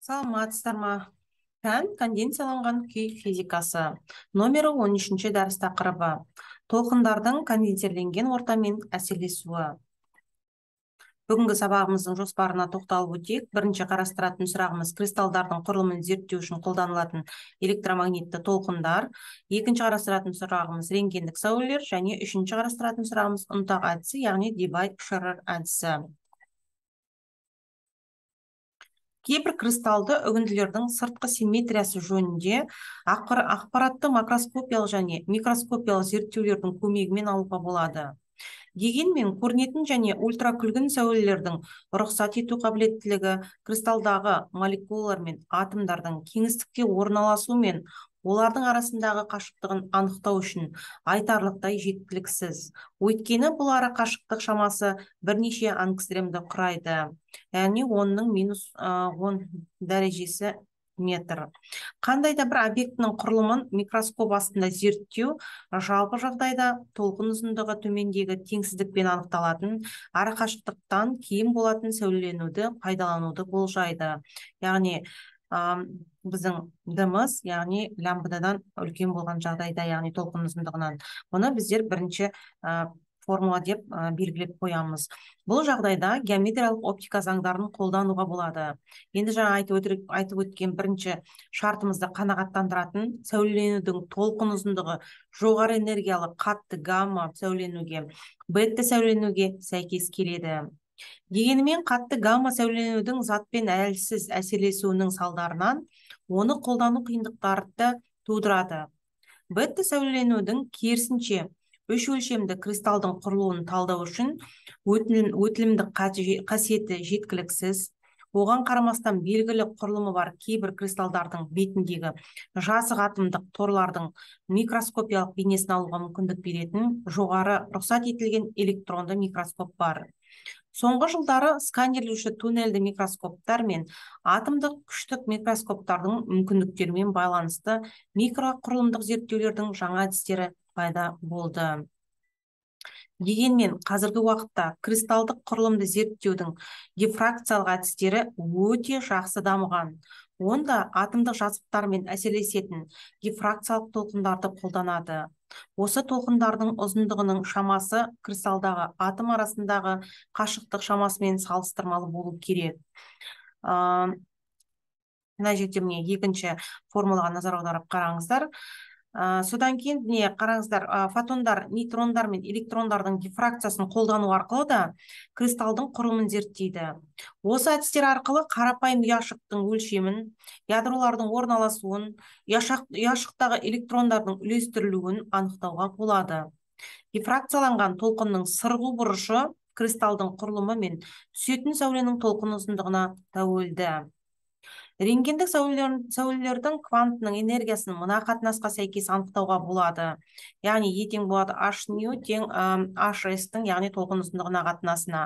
Саламатсыздар ма? Пән конденсияланған күй физикасы. Номері 13-ші дәріс тақырыбы. Толқындардың конденсерленген ортамен әсерлесуі. Бүгінгі сабағымыздың жоспарына тоқталып өтейік. Бірінші қарастыратын сұрағымыз кристалдардың құрылымын зерттеу үшін қолданылатын электромагнитті толқындар. Екінші қарастыратын сұрағымыз рентгендік сәулелер және үшінші қарастыратын сұрағымыз ұнтақ әдісі, яғни Дебай-Шерер әдісі. Кейбір кристалды үгінділердің сыртқы симметриясы жөнінде ақпаратты макроскопиялық және микроскопиялық зерттеулердің көмегімен алуға болады. Дегенмен көрінетін және ультракүлгін сәулелердің рұқсат ету қабілеттілігі кристалдағы молекулалар мен атомдардың кеңістікте орналасу мен олардың арасындағы қашықтығын анықтау үшін айтарлықтай жеткіліксіз. Өйткені бұл ара қашықтық шамасы бірнеше ангстремді құрайды. Яғни 10-ның минус 10 дәрежесі метр. Қандай да бір объектінің құрылымын микроскоп астында зерттеу жалпы жағдайда толқын ұзындығы төмендегі теңсіздікпен анықталатын арақашықтықтан кейін болатын сәулеленуді пайдалануды болжайды. Яғни біздің дымыз, яғни лямбдадан үлкен болған жағдайда, яғни толқын ұзындығынан. Бұны біздер бірінші формула деп белгілеп қоямыз. Бұл жағдайда геометриялық оптика заңдарын қолдануға болады. Енді жаңа айтып өткен бірінші шартымызды қанағаттандыратын сәулеленудің толқын ұзындығы жоғары энергиялы қатты гамма сәулеленуге, бетта сәулеленуге сәйкес келеді. Дегенмен қатты гамма сәулеленудің затпен әлсіз әсерлесуінің салдарынан оны қолдану қиындықтарды тудырады. Бетта сәулеленудің керісінше үш өлшемді кристалдың құрылуын талдау үшін өтілімдік қасиеті жеткіліксіз. Оған қарамастан белгілі құрылымы бар кейбір кристалдардың бетіндегі жасық атомдық торлардың микроскопиялық бейнесін алуға мүмкіндік беретін жоғары рұқсат етілген электронды микроскоп бар. Соңғы жылдары сканерлеуші туннельді микроскоптар мен атомдық күштік микроскоптардың мүмкіндіктерімен байланысты микроқұрылымдық зерттеулердің жаңа әдістері пайда болды. Дегенмен қазіргі уақытта кристалдық құрылымды зерттеудің дифракциялық әдістері өте жақсы дамыған. Онда атомдық жазықтармен әсерлесетін дифракциялық толқындарды қолданады. Осы толқындардың ұзындығының шамасы кристалдағы атом арасындағы қашықтық шамасымен салыстырмалы болу керек. Мына жерде міне екінші формулаға назар аударып қараңыздар. Содан кейін қараңыздар, фотондар, нейтрондар мен электрондардың дифракциясын қолдану арқылы да кристалдың құрылымын зерттейді. Осы әдістер арқылы қарапайым ұяшықтың өлшемін, ядролардың орналасуын, ұяшықтағы электрондардың үлестірілуін анықтауға болады. Дифракцияланған толқынның сырғу бұрышы кристалдың құрылымы мен түсетін сәуленің толқын ұзындығына тәуелді. Рентгендік сәулелердің квантының энергиясын мына қатынасқа сәйкес анықтауға болады. Яғни тең болады h-ню тең hs-тің, яғни толқын ұзындығына қатынасына.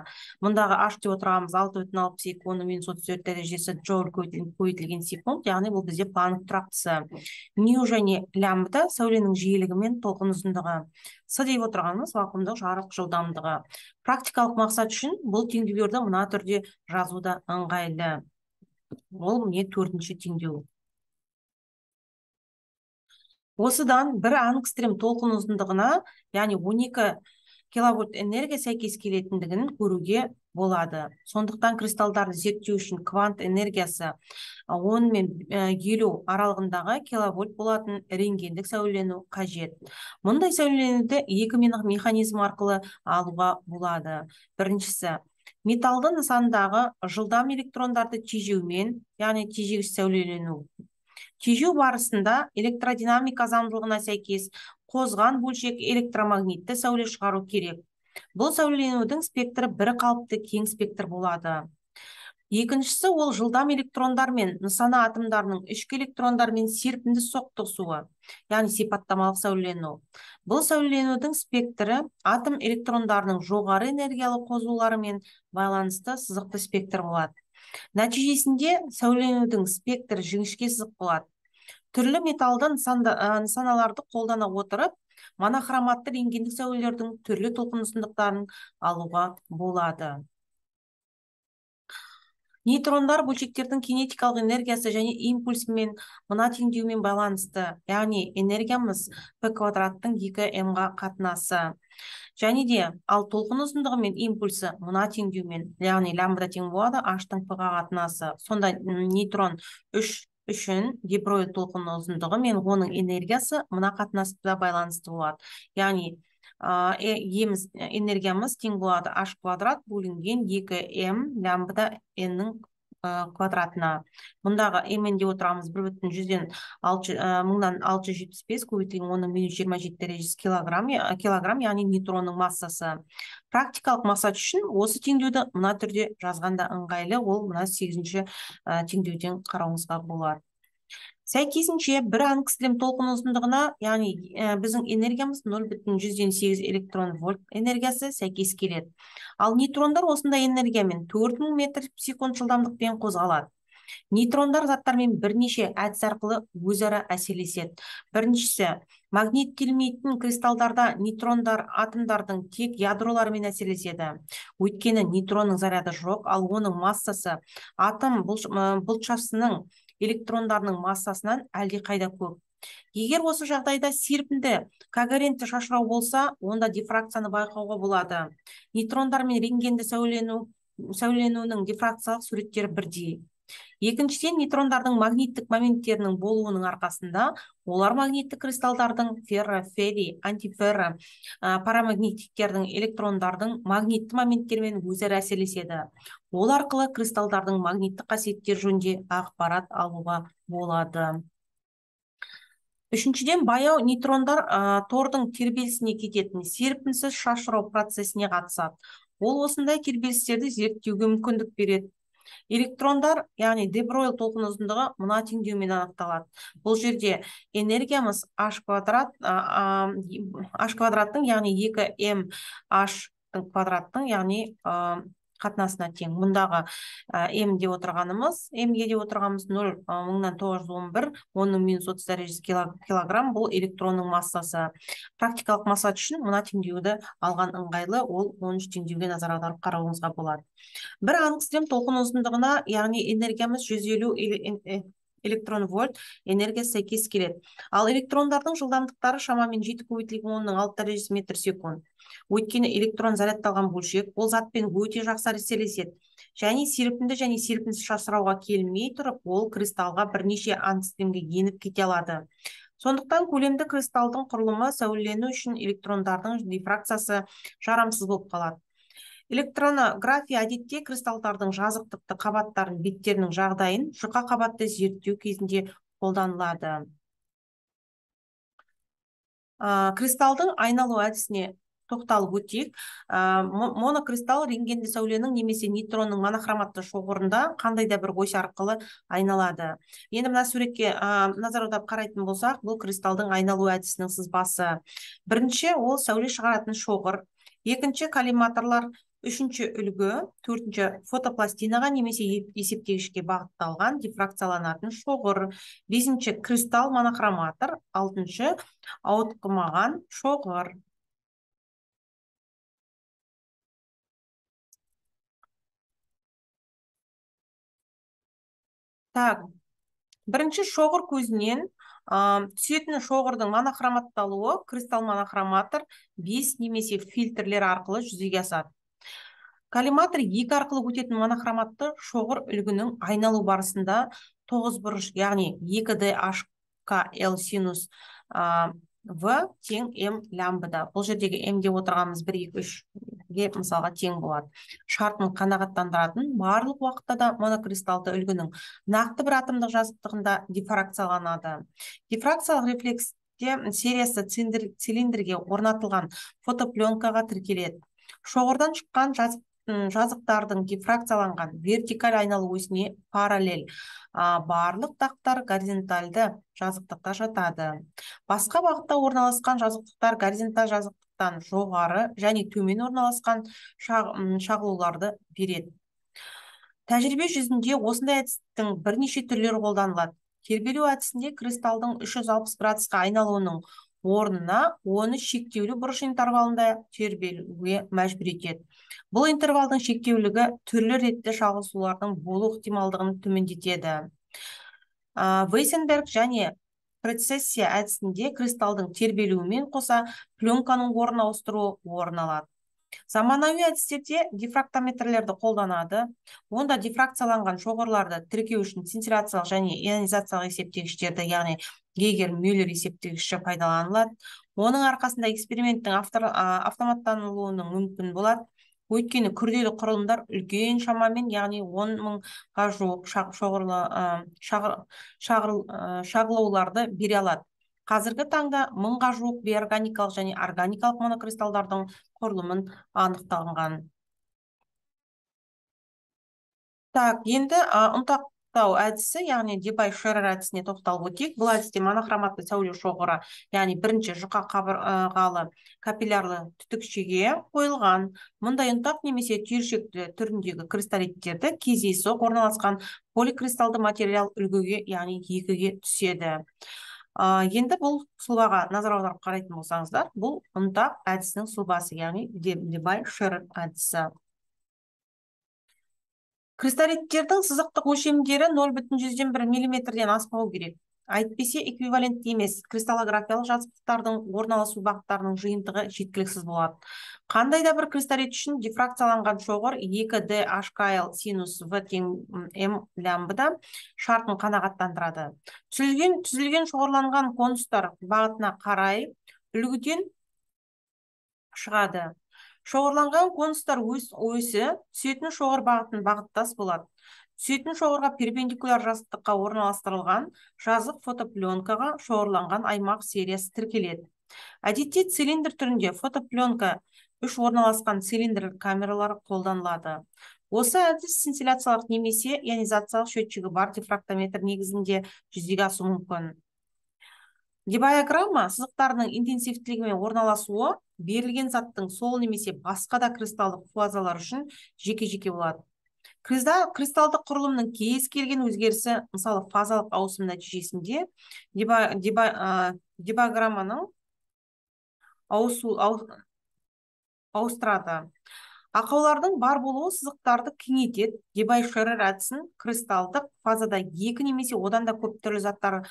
Мұндағы h деп отырғанымыз 6,62 10 минус 34 дәрежесі джоуль көбейтілген секунд, яғни бұл бізде Планк тұрақтысы. Нью және лямбда сәуленің жиілігі мен толқын ұзындығы. С деп отырғанымыз вакуумдық жарық жылдамдығы. Практикалық мақсат үшін бұл теңдеулерді мына түрде жазуда ыңғайлы. Ол міне төртінші теңдеу. Осыдан бір ангстрем толқын ұзындығына, яғни 12 киловольт энергия сәйкес келетіндігін көруге болады. Сондықтан кристалдарды зерттеу үшін квант энергиясы 10 мен 50 аралығындағы киловольт болатын рентгендік сәулелену қажет. Мұндай сәулеленуді екі механизм арқылы алуға болады. Біріншісі, металлды нысандағы жылдам электрондарды тежеумен, яғни тежегіш сәулелену. Тежеу барысында электродинамика заңдылығына сәйкес қозған бөлшек электромагнитті сәуле шығару керек. Бұл сәулеленудің спектрі бір қалыпты кең спектр болады. Екіншісі, ол жылдам электрондар мен нысана атомдарының ішкі электрондармен серпінді соқтығысуы, яғни сипаттамалық сәулелену. Бұл сәулеленудің спектрі атом электрондарының жоғары энергиялы қозуларымен байланысты сызықты спектр болады. Нәтижесінде сәулеленудің спектрі жіңішке сызық болады. Түрлі металлды нысаналарды қолдана отырып, монохроматты рентгендік сәулелердің түрлі толқын ұзындықтарын алуға болады. нейтрондар бөлшектердің кинетикалық энергиясы және импульсімен мына теңдеумен байланысты, яғни энергиямыз p квадраттың 2m-ға қатынасы. Және де ал толқын ұзындығы мен импульсы мына теңдеумен, яғни лямбда тең болады h-тың p-ға қатынасы. Сонда нейтрон үшін дибройл толқынның ұзындығы мен оның энергиясы мына қатынаспен байланысты болады. Яғни энергиямыз тең болады h квадрат бөлінген 2m лямбда n-нің квадратына. Мұндағы m деп отырамыз 1/1000-675 көбейтілген 10-27 дәрежесі килограмм, яғни нейтронның массасы. Практикалық мақсат үшін осы теңдеуді мына түрде жазғанда ыңғайлы, ол мына 8-ші теңдеуден қарауыңызға болады. Сәйкесінше бір ангстрем толқын ұзындығына, яғни біздің энергиямыз 0,8 электрон вольт энергиясы сәйкес келеді. Ал нейтрондар осындай энергиямен 4000 метр секунд жылдамдықпен қозғалады. Нейтрондар заттармен бірнеше әдіс арқылы өзара әсерлеседі. Біріншісі, магниттелмейтін кристалдарда нейтрондар атомдардың тек ядроларымен әсерлеседі. Өйткені нейтронның заряды жоқ, ал оның массасы атом бұлтшасының электрондарының массасынан әлдеқайда көп. Егер осы жағдайда серпінді когерентті шашырау болса, онда дифракцияны байқауға болады. Нейтрондар мен рентгенді сәуленуінің дифракциялық суреттері бірдей. Екіншіден, нейтрондардың магниттік моменттерінің болуының арқасында олар магниттік кристалдардың ферро, ферри, антиферро парамагнитиктердің электрондардың магнитті моменттермен өзара әсерлеседі. Ол арқылы кристалдардың магниттік қасиеттер жөнінде ақпарат алуға болады. Үшіншіден, баяу нейтрондар тордың тербелісіне кететін серпінсіз шашырау процесіне қатысады. Ол осындай тербелістерді зерттеуге мүмкіндік береді. Электрондар, яғни де Бройль толқын ұзындығы мына теңдеумен анықталады. Бұл жерде энергиямыз h квадраттың, яғни 2m h квадраттың, яғни қатынасына тең. Мұндағы m-ге деп отырғанымыз 0,911 10-30 дәрежесі килограмм, бұл электронның массасы. Практикалық мақсат үшін мына теңдеуді алған ыңғайлы, ол 13 теңдеуге назар аударып қарауыңызға болады. Бір ангстрем толқын ұзындығына, яғни энергиямыз 150 электрон вольт энергиясы сәйкес келеді. Ал электрондардың жылдамдықтары шамамен 7 көбейтілген 10-6 дәрежесі метр секунд. Өйткені электрон зарядталған бөлшек, ол затпен өте жақсы әсерлеседі. Және серпінді және серпінсіз шашырауға келмей тұрып, ол кристалға бірнеше ангстремге еніп кете алады. Сондықтан көлемді кристалдың құрылымы сәулелену үшін электрондардың дифракциясы жарамсыз болып қалады. Электронография әдетте кристалдардың жазықтықты қабаттарын беттерінің жағдайын жұқа қабатты зерттеу кезінде қолданылады. Кристалдың айналу әдісіне тоқталып өтейік. Монокристалл рентгенді сәуленің немесе нейтронның монохроматты шоғырында қандай да бір ось арқылы айналады. Енді мына суретке назар аударып қарайтын болсақ, бұл кристалдың айналу әдісінің сызбасы. Бірінші, ол сәуле шығаратын шоғыр. Екінші, коллиматорлар. Үшінші, үлгі. Төртінші, фотопластинаға немесе есептегішке бағытталған дифракцияланатын шоғыр. Бесінші, кристалл монохроматор. Алтыншы, ауытқымаған шоғыр. Бірінші, шоғыр көзінен түсетін шоғырдың монохроматталуы кристалл монохроматор 5 немесе фильтрлер арқылы жүзеге асады. Коллиматор 2 арқылы өтетін монохроматты шоғыр үлгінің айналу барысында 9 бұрыш, яғни 2DHKL синус V тең M лямбда. Бұл жердегі M деп отырғанымыз 1, 2, 3-ге мысалға тең болады. Шартын қанағаттандыратын барлық уақытта да монокристалды үлгінің нақты бір атомдық жазықтығында дифракцияланады. Дифракциялық рефлексте сериясы цилиндрге орнатылған фотопленкаға тіркеледі. Шоғырдан шыққан жазықтардың дифракцияланған вертикаль айналу осіне параллель барлық тақтар горизонтальды жазықтықта жатады. Басқа бағытта орналасқан жазықтықтар горизонталь жазықтықтан жоғары және төмен орналасқан шағылуларды береді. Тәжірибе жүзінде осындай әдістің бірнеше түрлері қолданылады. Тербелу әдісінде кристалдың 360 градусқа айналуының орнына оны шектеулі бұрыш интервалында тербелуге мәжбүр етеді. Бұл интервалдың шектеулігі түрлі ретті шағылысулардың болу ықтималдығын төмендетеді. Вейсенберг және прецессия әдісінде кристалдың тербелуімен қоса пленканың орын ауыстыруы орын алады. Заманауи әдістерде дифрактометрлерді қолданады. Онда дифракцияланған шоғырларды тіркеу үшін синтиляциялық және ионизациялық есептегіштерді, яғни Гейгер-Мюллер есептегіші пайдаланылады. Оның арқасында эксперименттің автоматтанылуының мүмкін болады. Өйткені күрделі құрылымдар үлкен шамамен, яғни 10.000-ға жуық шағылауларды бере алады. Қазіргі таңда 1000-ға жуық бейорганикалық және органикалық монокристалдардың құрылымын анықталған. Енді ұнтақтау әдісі, яғни Дебай-Шерер әдісіне тоқталып өтейік. Бұл әдісте монохроматты сәуле шоғыры, яғни бірінші жұқа қабырғалы капиллярлы түтікшеге қойылған. Мұндай ұнтақ немесе түйіршекті түріндегі кристаллиттерді кездейсоқ орналасқан поликристалды материал үлгіге, яғни екіге түседі. Енді бұл сұлбаға назар аударып қарайтын болсаңыздар, бұл ұнтақ әдісінің сұлбасы, яғни Дебай-Шерер әдісі. Кристаллиттердің сызықтық өлшемдері 0,1 мм-ден аспау керек. Әйтпесе эквивалентті емес кристаллографиялық жазықтықтардың орналасу бағыттарының жиынтығы жеткіліксіз болады. Қандай да бір кристаллит үшін дифракцияланған шоғыр 2DHKL синус V тең М лямбда шартын қанағаттандырады. Түзілген шоғырланған конустар бағытына қарай үлгіден шығады. Шоғырланған конустар өсі түсетін шоғыр бағытын бағыттас болады. Түсетін шоғырға перпендикуляр жазықтыққа орналастырылған жазық фотопленкаға шоғырланған аймақ сериясы тіркеледі. Әдетте цилиндр түрінде фотопленка 3 орналасқан цилиндр камералары қолданылады. Осы әдіс синтиляциялық немесе ионизациялық счетчигі бар дифрактометр негізінде жүзеге асуы мүмкін. Дебайограмма сызықтарының интенсивтілігімен орналасуы берілген заттың сол немесе басқа да кристалдық фазалар үшін жеке-жеке болады. Кристалдық құрылымның кез келген өзгерісі, мысалы фазалық ауысым нәтижесінде дебайограмманың ауыстырады. Ақаулардың бар болуы сызықтарды кеңейтеді. Дебай-Шерер әдісін кристалдық фазада екі немесе одан да көп түрлі заттар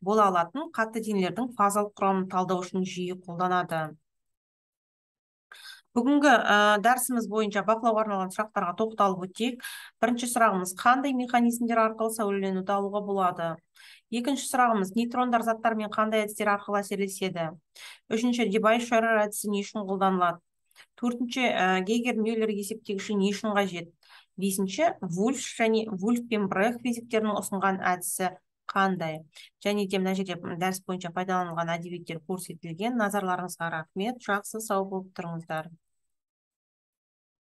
бола алатын қатты денелердің фазалық құрамын талдау үшін жиі қолданады. Бүгінгі дәрісіміз бойынша бақылауға арналған сұрақтарға тоқталып өтейік. Бірінші сұрағымыз: қандай механизмдер арқылы сәулеленуді алуға болады? Екінші сұрағымыз: нейтрондар заттармен қандай әдістер арқылы әсерлеседі? Үшінші: Дебай-Шерер әдісі не үшін қолданылады? Төртінші: Гейгер-Мюллер есептегіші не үшін қажет? Бесінші: Вульф және Вульф пен Брех физиктерінің ұсынған әдісі қандай? Және де мына жерде дәріс бойынша пайдаланылған әдебиеттер көрсетілген. Назарларыңызға рахмет. Жақсы, сау болып тұрыңыздар.